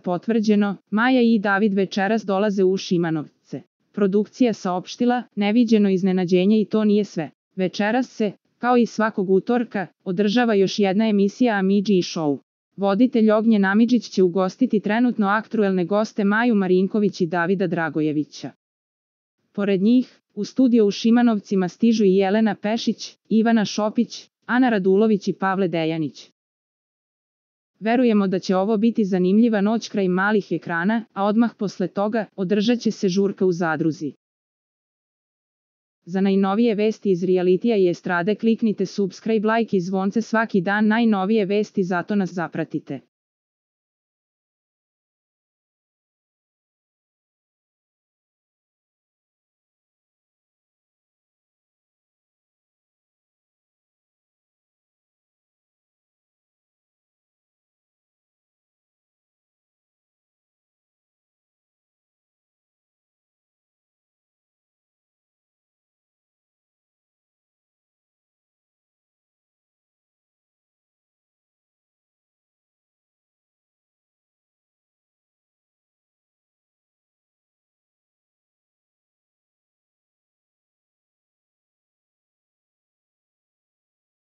Potvrđeno, Maja i David večeras dolaze u Šimanovce. Produkcija saopštila, neviđeno iznenađenje i to nije sve. Večeras se, kao i svakog utorka, održava još jedna emisija Amidži Show. Voditelj Ognjen Amidžić će ugostiti trenutno aktuelne goste Maju Marinković i Davida Dragojevića. Pored njih, u studio u Šimanovcima stižu i Jelena Pešić, Ivana Šopić, Ana Radulović i Pavle Dejanić. Verujemo da će ovo biti zanimljiva noć kraj malih ekrana, a odmah posle toga održat će se žurka u Zadruzi. Za najnovije vesti iz realitija i estrade kliknite subscribe, like i zvonce svaki dan, najnovije vesti, zato nas zapratite.